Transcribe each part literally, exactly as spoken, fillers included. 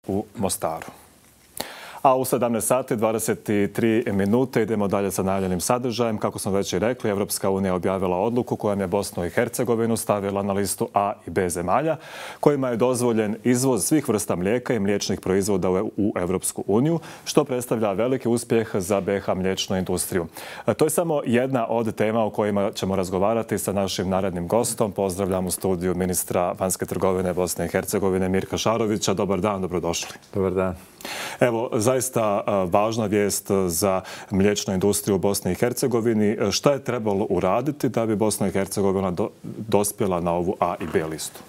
u Mostaru. A u sedamnaest sati dvadeset tri minute idemo dalje sa najavljenim sadržajem. Kako smo već i rekli, Evropska unija objavila odluku kojom je Bosnu i Hercegovinu stavila na listu A i B zemalja, kojima je dozvoljen izvoz svih vrsta mlijeka i mliječnih proizvoda u Evropsku uniju, što predstavlja veliki uspjeh za B iH mliječnu industriju. To je samo jedna od tema o kojima ćemo razgovarati sa našim narednim gostom. Pozdravljam u studiju ministra vanjske trgovine Bosne i Hercegovine Mirka Šarovića. Dobar dan, dobrodošli. Dobar dan. Evo, zaista važna vijest za mliječnu industriju u Bosni i Hercegovini. Šta je trebalo uraditi da bi Bosna i Hercegovina do, dospjela na ovu A i B listu?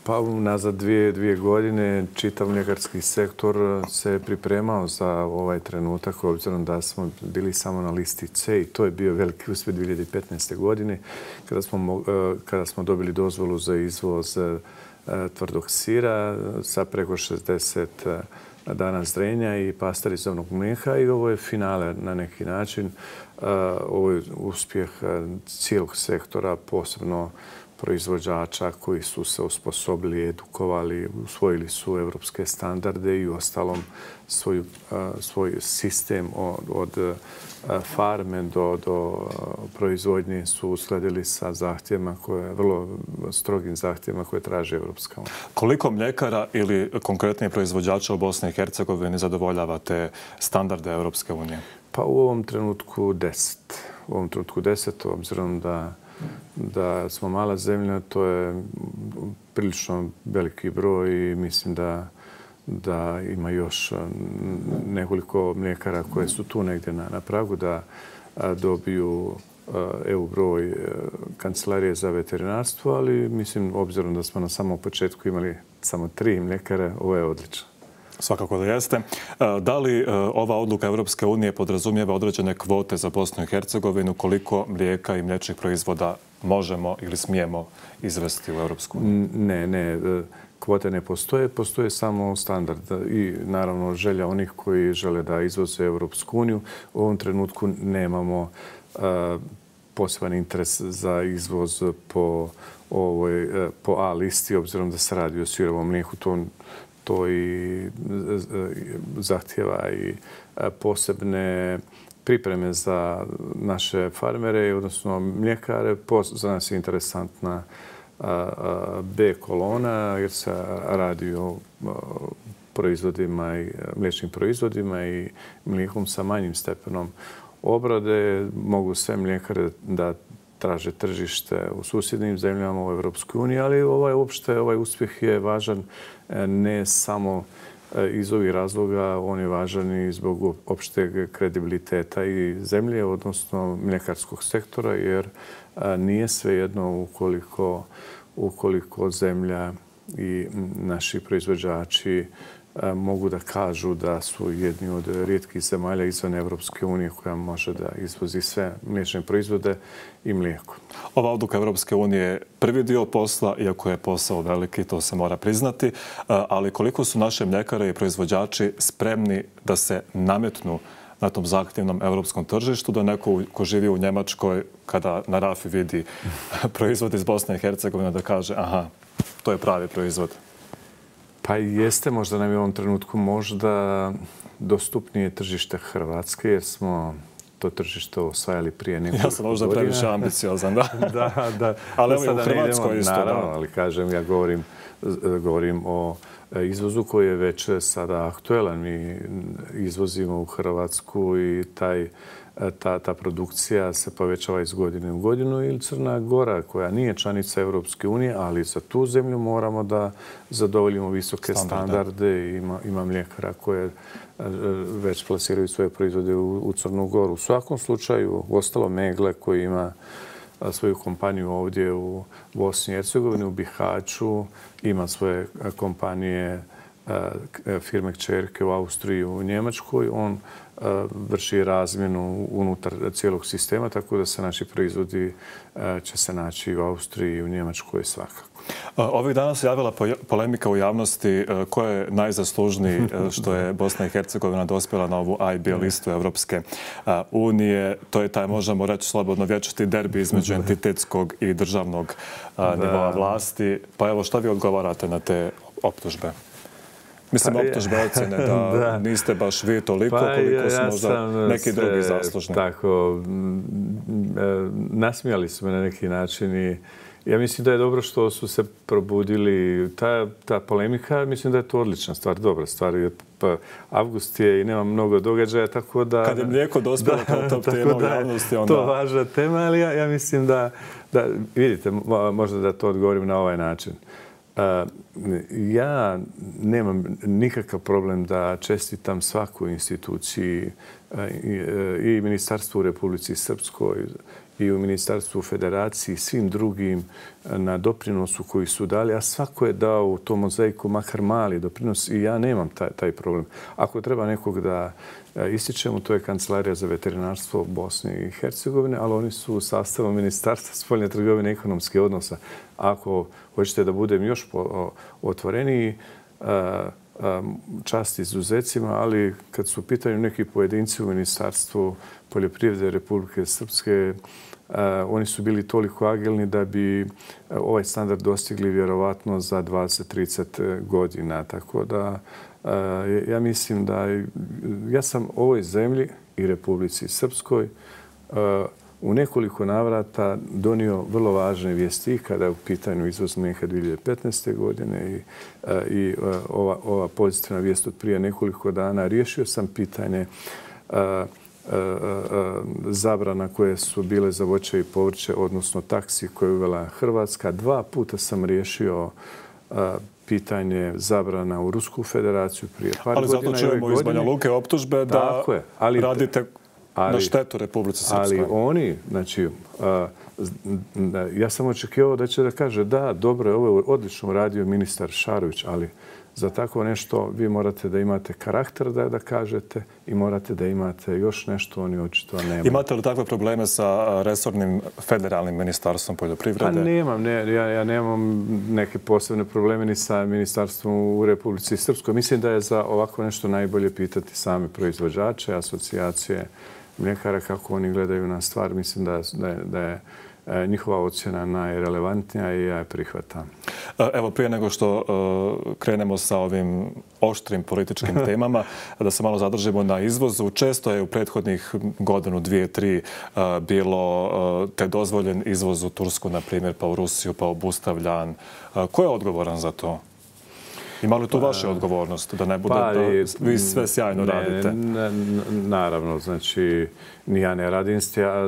Pa nazad dvije, dvije godine čitav mljekarski sektor se pripremao za ovaj trenutak, obzirom da smo bili samo na listi C i to je bio veliki uspjeh dvije hiljade petnaeste. godine kada smo, kada smo dobili dozvolu za izvoz tvrdog sira sa preko šezdeset dana zrenja i pasterizovanog mlijeka i ovo je finale na neki način. Ovo je uspjeh cijelog sektora, posebno proizvođača koji su se osposobili, edukovali, usvojili su evropske standarde i u ostalom svoj, svoj sistem od, od farme do, do proizvodnje su uskladili sa zahtjevima koje, vrlo strogim zahtjevima koje traži Evropska unija. Koliko mljekara ili konkretnije proizvođača u Bosni i Hercegovini zadovoljava te standarde Evropske unije? Pa u ovom trenutku deset. U ovom trenutku deset, obzirom da da smo mala zemlja, to je prilično veliki broj i mislim da, da ima još nekoliko mljekara koje su tu negdje na, na pragu da dobiju E U broj Kancelarije za veterinarstvo, ali mislim, obzirom da smo na samom početku imali samo tri mljekara, ovo je odlično. Svakako da jeste. Da li ova odluka Evropske unije podrazumijeva određene kvote za Bosnu i Hercegovinu, koliko mlijeka i mliječnih proizvoda možemo ili smijemo izvesti u Evropsku uniju? Ne, ne. Kvote ne postoje, postoje samo standard i naravno želja onih koji žele da izvoze Evropsku uniju. U ovom trenutku nemamo poseban interes za izvoz po, ovoj, po A listi, obzirom da se radi o sirovom mlijeku. To to i zahtjeva i posebne pripreme za naše farmere, odnosno mljekare. Za nas je interesantna B kolona jer se radi o proizvodima i mliječnim proizvodima i mlijekom sa manjim stepenom obrade. Mogu sve mljekare da traže tržište u susjednim zemljama u Evropskoj uniji, ali ovaj, uopšte, ovaj uspjeh je važan ne samo iz ovih razloga, on je važan i zbog opšteg kredibiliteta i zemlje, odnosno mljekarskog sektora, jer nije svejedno ukoliko, ukoliko zemlja i naši proizvođači mogu da kažu da su jedni od rijetkih zemalja izvan Evropske unije koja može da izvozi sve mliječne proizvode i mlijeko. Ova odluka Evropske unije je prvi dio posla, iako je posao veliki, to se mora priznati, ali koliko su naše mljekare i proizvođači spremni da se nametnu na tom zahtjevnom evropskom tržištu, da neko ko živi u Njemačkoj, kada na rafi vidi proizvod iz Bosne i Hercegovine, da kaže aha, to je pravi proizvod. Pa jeste, možda nam je u ovom trenutku možda dostupnije tržište Hrvatske, jer smo to tržište osvajali prije nekoliko godina. Ja sam možda previše ambiciozan, da. da, da. Ali evo u Hrvatskoj isto. Naravno, ali kažem, ja govorim, govorim o izvozu koji je već sada aktuelan. Mi izvozimo u Hrvatsku i taj Ta, ta produkcija se povećava iz godine u godinu ili Crna Gora koja nije članica Evropske unije, ali za tu zemlju moramo da zadovoljimo visoke standarde. Ima, ima mljekara koje već plasiraju svoje proizvode u, u Crnu Goru. U svakom slučaju, ostalo Megle koji ima svoju kompaniju ovdje u Bosni i Hercegovini, u Bihaću, ima svoje kompanije, firme kćerke u Austriji, u Njemačkoj. On vrši razmjenu unutar cijelog sistema, tako da se naši proizvodi će se naći u Austriji i u Njemačkoj svakako. Ovih dana se javila polemika u javnosti ko je najzaslužniji što je Bosna i Hercegovina dospjela na ovu A i B listu Evropske unije. To je taj, možemo reći slobodno, vječiti derbi između entitetskog i državnog nivoa vlasti. Pa evo, šta vi odgovarate na te optužbe? Mislim, optužbe ocjene da niste baš vi toliko koliko su možda neki drugi zaslužni. Tako, nasmijali su me na neki način i ja mislim da je dobro što su se probudili. Ta, ta polemika, mislim da je to odlična stvar, dobra stvar. Pa, avgust je i nema mnogo događaja, tako da... Kad je mlijeko dospjelo kao top tema u javnosti, onda... To je važna tema, ali ja, ja mislim da, da... Vidite, možda da to odgovorim na ovaj način. Uh, ja nemam nikakav problem da čestitam svaku instituciji uh, i, uh, i Ministarstvu u Republici Srpskoj i u Ministarstvu Federaciji, svim drugim na doprinosu koji su dali, a svako je dao u tom mozaiku makar mali doprinos i ja nemam taj, taj problem. Ako treba nekog da ističemo, to je Kancelarija za veterinarstvo Bosne i Hercegovine, ali oni su u sastavu Ministarstva spoljne trgovine i ekonomske odnosa. Ako hoćete da budem još otvoreniji, čast izuzecima, ali kad su u pitanju neki pojedinci u Ministarstvu poljoprivrede Republike Srpske, Uh, oni su bili toliko agilni da bi uh, ovaj standard dostigli vjerovatno za dvadeset do trideset godina. Tako da uh, ja mislim da ja sam ovoj zemlji i Republici Srpskoj uh, u nekoliko navrata donio vrlo važne vijesti kada je u pitanju izvoz mlijeka dvije hiljade petnaeste. godine i, uh, i uh, ova, ova pozitivna vijest od prije nekoliko dana. Riješio sam pitanje uh, zabrana koje su bile za voće i povrće, odnosno taksi koje je uvela Hrvatska. Dva puta sam riješio pitanje zabrana u Rusku federaciju prije par ali godina. Ali zato čujemo iz Banja Luke optužbe da ali, radite ali, na štetu Republici Srpskoj. Ali oni, znači, ja sam očekivao da će da kaže da, dobro je, ovo je odlično uradio ministar Šarović, ali za tako nešto vi morate da imate karakter da da kažete i morate da imate još nešto, oni očito nemaju. Imate li takve probleme sa resornim federalnim ministarstvom poljoprivrede? Pa nemam, ne, ja, ja nemam neke posebne probleme ni sa ministarstvom u Republici Srpskoj. Mislim da je za ovako nešto najbolje pitati same proizvođače, asocijacije mljekara kako oni gledaju na stvar. Mislim da, da, je, da je njihova ocjena najrelevantnija i ja je prihvatam. Evo, prije nego što krenemo sa ovim oštrim političkim temama, da se malo zadržimo na izvozu. Često je u prethodnih godinu, dvije, tri bilo te dozvoljen izvoz u Tursku, na primjer, pa u Rusiju, pa obustavljan. Ko je odgovoran za to? Ima li tu vaša odgovornost da ne bude pa, da vi sve sjajno ne, radite? Ne, naravno, znači, ni ja ne radim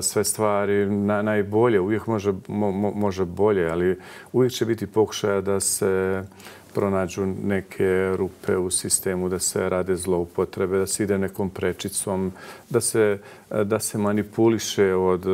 sve stvari na, najbolje. Uvijek može, mo, može bolje, ali uvijek će biti pokušaja da se pronađu neke rupe u sistemu, da se rade zloupotrebe, da se ide nekom prečicom, da se, da se manipuliše od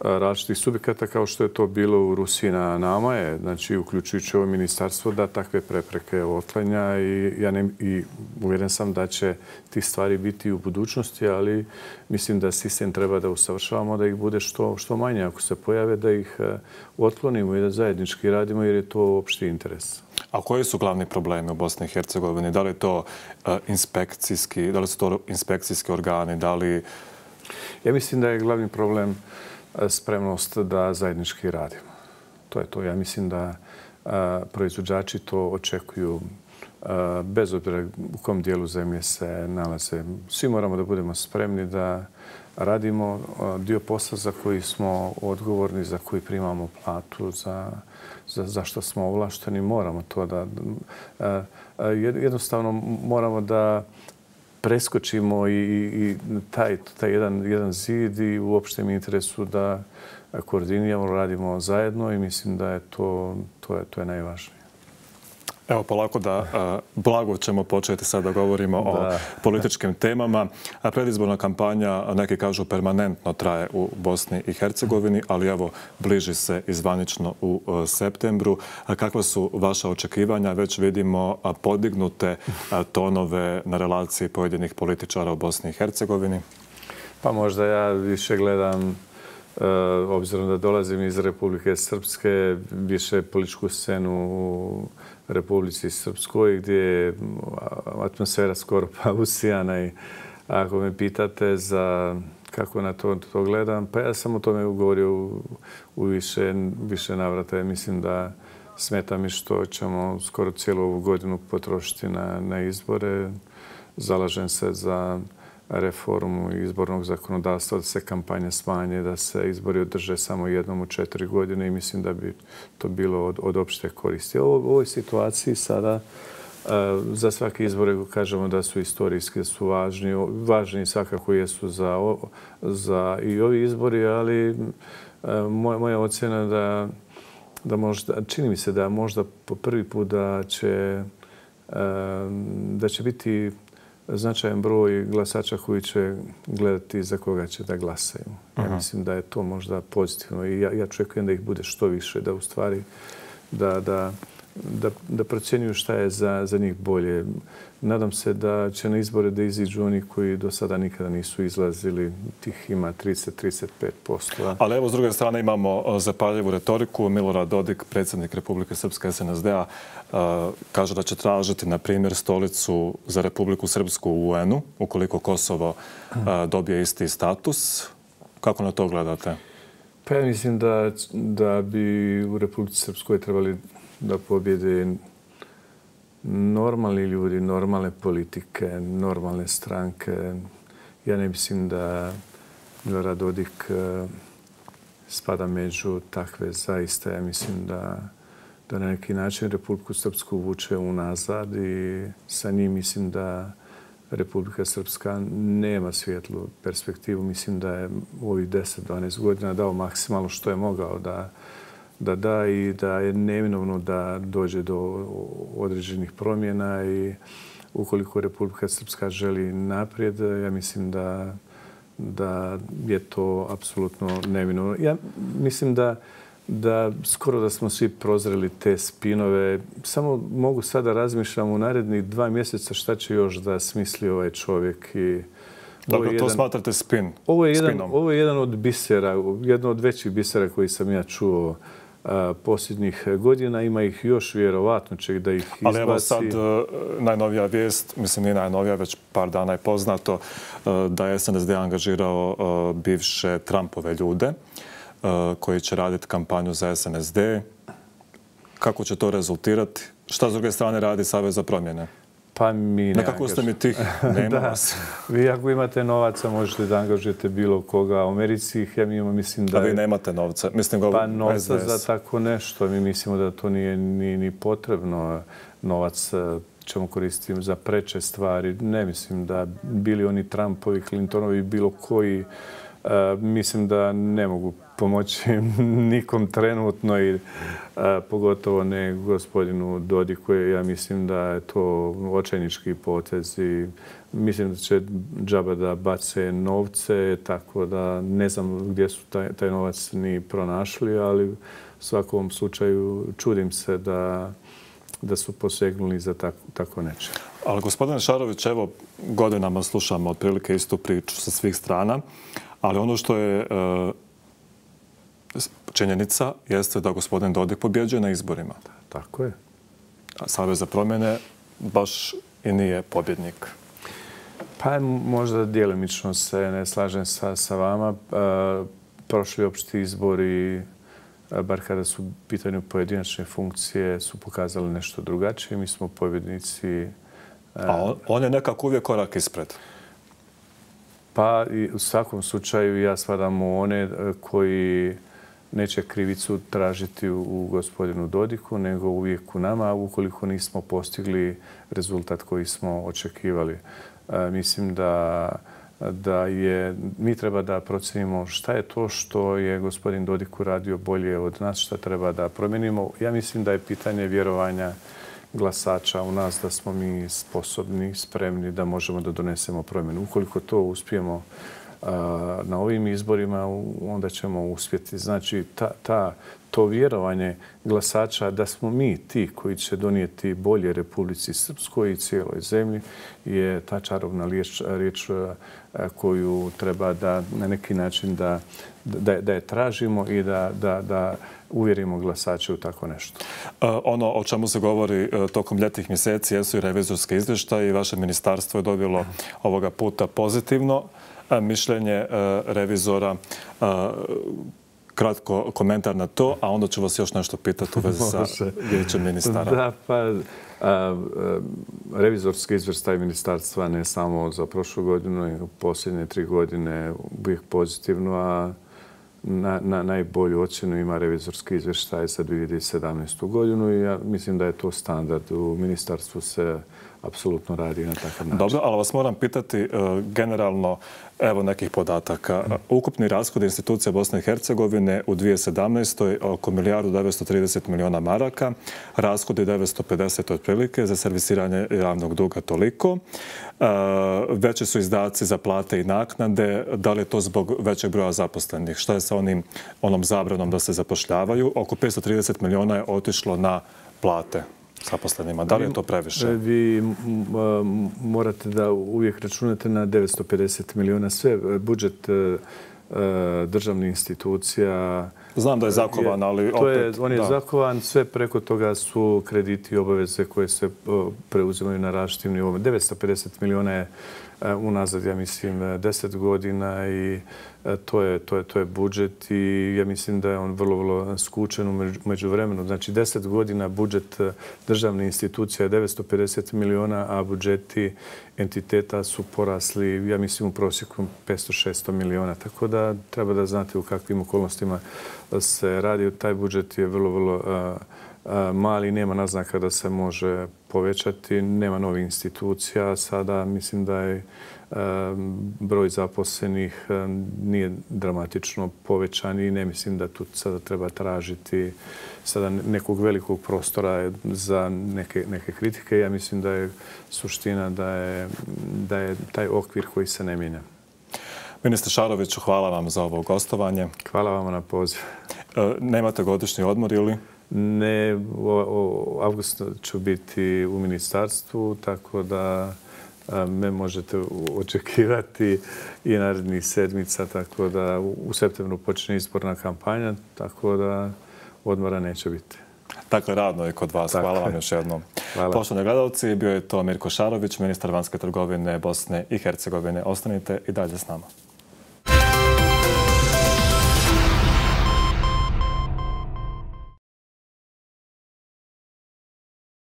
različitih subjekata kao što je to bilo u Rusiji. Na nama je, znači, uključujući ovo ministarstvo, da takve prepreke otklanja i, ja ne, i uvjeren sam da će ti stvari biti u budućnosti, ali mislim da sistem treba da usavršavamo, da ih bude što, što manje. Ako se pojave, da ih otklonimo i da zajednički radimo jer je to opšti interes. A koji su glavni problemi u Bosni i Hercegovini? Da li to uh, inspekcijski, da li su to inspekcijski organi, da li... Ja mislim da je glavni problem spremnost da zajednički radimo. To je to. Ja mislim da uh, proizvođači to očekuju uh, bez obzira u kom dijelu zemlje se nalaze. Svi moramo da budemo spremni da radimo uh, dio posla za koji smo odgovorni, za koji primamo platu, za za, za što smo ovlašteni, moramo to da... Jednostavno moramo da preskočimo i, i taj, taj jedan, jedan zid i u opštem interesu da koordiniramo, radimo zajedno i mislim da je to, to, je, to je najvažnije. Evo, polako da blago ćemo početi sad da govorimo da. o političkim temama. Predizborna kampanja, neki kažu, permanentno traje u Bosni i Hercegovini, ali evo, bliži se izvanično u septembru. Kakva su vaša očekivanja? Već vidimo podignute tonove na relaciji pojedinih političara u Bosni i Hercegovini. Pa možda ja više gledam, obzirom da dolazim iz Republike Srpske, više političku scenu u Republici Srpskoj, gdje je atmosfera skoro pa usijana i ako me pitate za kako na to, to gledam, pa ja sam o tome govorio u, u više, više navrata. Mislim da Smeta mi što ćemo skoro cijelu ovu godinu potrošiti na, na izbore. Zalažem se za reformu izbornog zakonodavstva, da se kampanje smanje, da se izbori održe samo jednom u četiri godine i mislim da bi to bilo od, od opšte koristi. U ovoj situaciji sada za svake izbore kažemo da su istorijski, da su važni. Važni svakako jesu za, za i ovi izbori, ali moja, moja ocjena da, da možda, čini mi se da možda po prvi put da će, da će biti značajan broj glasača koji će gledati za koga će da glasaju. Ja uh-huh. mislim da je to možda pozitivno i ja, ja očekujem da ih bude što više, da u stvari da, da, da, da procjenjuju šta je za, za njih bolje. Nadam se da će na izbore da iziđu oni koji do sada nikada nisu izlazili. Tih ima trideset do trideset pet posto. Ali evo, s druge strane, imamo zapaljivu retoriku. Milorad Dodik, predsjednik Republike Srpske S N S D-a, kaže da će tražiti, na primjer, stolicu za Republiku Srpsku u U N-u, ukoliko Kosovo dobije isti status. Kako na to gledate? Pa ja mislim da, da bi u Republici Srpskoj trebali da pobjede normalni ljudi, normalne politike, normalne stranke. Ja ne mislim da Milorad Dodik spada među takve zaista. Ja mislim da, da na neki način Republiku Srpsku vuče unazad i sa njim mislim da Republika Srpska nema svjetlu perspektivu. Mislim da je u ovih deset do dvanaest godina dao maksimalno što je mogao da da da i da je neminovno da dođe do određenih promjena i ukoliko Republika Srpska želi naprijed, ja mislim da, da je to apsolutno neminovno. Ja mislim da, da skoro da smo svi prozreli te spinove. Samo mogu sada razmišljam u narednih dva mjeseca šta će još da smisli ovaj čovjek i dakle, to jedan, smatrate spin, ovo je jedan, spinom? Ovo je jedan od bisera, jedno od većih bisera koji sam ja čuo a, posljednjih godina. Ima ih još, vjerovatno će da ih izbaci. Ali evo sad najnovija vijest, mislim nije najnovija, već par dana je poznato da je S N S D angažirao bivše Trumpove ljude koji će raditi kampanju za S N S D. Kako će to rezultirati? Šta s druge strane radi Savez za promjene? Pa mi ne nekako ste mi tih, nema vas. Vi ako imate novaca možete da angažujete bilo koga. U Americi ja mi imamo, mislim da... A vi nemate novca? Mislim ga pa novca za tako nešto. Mi mislimo da to nije ni, ni potrebno. Novac ćemo koristiti za preče stvari. Ne mislim da bili oni Trumpovi, Clintonovi, bilo koji, uh, mislim da ne mogu pomoći nikom trenutno i a, pogotovo ne gospodinu Dodiku. Ja mislim da je to očajnički potez i mislim da će džaba da bace novce, tako da ne znam gdje su taj, taj novac ni pronašli, ali u svakom slučaju čudim se da, da su posegnuli za tako, tako neče. Ali gospodine Šarović, evo godinama slušamo otprilike istu priču sa svih strana, ali ono što je uh, činjenica jeste da gospodin Dodik pobjeđuje na izborima. Tako je. A Savez za promjene baš i nije pobjednik. Pa možda djelimično se ne slažem sa, sa vama. E, prošli opšti izbori, bar kada su pitanju pojedinačne funkcije, su pokazali nešto drugačije. Mi smo pobjednici. E, A on, on je nekako uvijek korak ispred. Pa i u svakom slučaju ja spadam u one koji neće krivicu tražiti u gospodinu Dodiku, nego uvijek u nama, ukoliko nismo postigli rezultat koji smo očekivali. E, mislim da, da je, mi treba da procenimo šta je to što je gospodin Dodik uradio bolje od nas, šta treba da promijenimo. Ja mislim da je pitanje vjerovanja glasača u nas, da smo mi sposobni, spremni, da možemo da donesemo promjenu. Ukoliko to uspijemo na ovim izborima, onda ćemo uspjeti. Znači, ta, ta, to vjerovanje glasača da smo mi ti koji će donijeti bolje Republici Srpskoj i cijeloj zemlji je ta čarobna riječ, riječ koju treba da na neki način da, da, da je tražimo i da, da, da uvjerimo glasače u tako nešto. Ono o čemu se govori tokom ljetnih mjeseci jesu i revizorske izvještaje i vaše ministarstvo je dobilo ovoga puta pozitivno mišljenje revizora. kratko komentar na to, a onda ću vas još nešto pitati u vezi sa vijećem ministara. Da, pa a, a, revizorski izvještaj ministarstva ne samo za prošlu godinu, nego posljednje tri godine uvijek pozitivno, a na, na najbolju ocjenu ima revizorski izvještaj za dvije hiljade sedamnaestu godinu i ja mislim da je to standard. U ministarstvu se apsolutno radi na takav način. Dobro, ali vas moram pitati generalno, evo nekih podataka. Ukupni rashod institucija Bosne i Hercegovine u dvije hiljade sedamnaestoj oko milijardu devetsto trideset miliona maraka, rashodi devetsto pedeset otprilike, za servisiranje javnog duga toliko. Veći su izdaci za plate i naknade. Da li je to zbog većeg broja zaposlenih? Šta je sa onim, onom zabranom da se zapošljavaju? Oko petsto trideset miliona je otišlo na plate zaposlenima. Da li je to previše? Vi morate da uvijek računate na devetsto pedeset miliona. Sve budžet državnih institucija... Znam da je zakovan, ali opet... To je, on je da. zakovan, sve preko toga su krediti i obaveze koje se preuzimaju na različitim nivoma. devetsto pedeset miliona je unazad, ja mislim, deset godina i to je, to je, to je budžet i ja mislim da je on vrlo, vrlo skučen u međuvremenu. Znači, deset godina budžet državne institucije je devetsto pedeset miliona, a budžeti entiteta su porasli, ja mislim, u prosjeku petsto šesto miliona. Tako da treba da znate u kakvim okolnostima se radi. Taj budžet je vrlo, vrlo mali, nema naznaka da se može povećati, nema novih institucija. Sada mislim da je broj zaposlenih nije dramatično povećan i ne mislim da tu sada treba tražiti sada nekog velikog prostora za neke, neke kritike. Ja mislim da je suština da je, da je taj okvir koji se ne mijenja. Ministre Šaroviću, hvala vam za ovo gostovanje. Hvala vam na poziv. Nemate godišnji odmor ili? Ne, u avgustu ću biti u ministarstvu, tako da me možete očekivati i narednih sedmica, tako da u septembru počne izborna kampanja, tako da odmora neće biti. Dakle, radno je kod vas. Tako hvala vam još jednom. Poštovani gledalci, bio je to Mirko Šarović, ministar vanjske trgovine Bosne i Hercegovine. Ostanite i dalje s nama.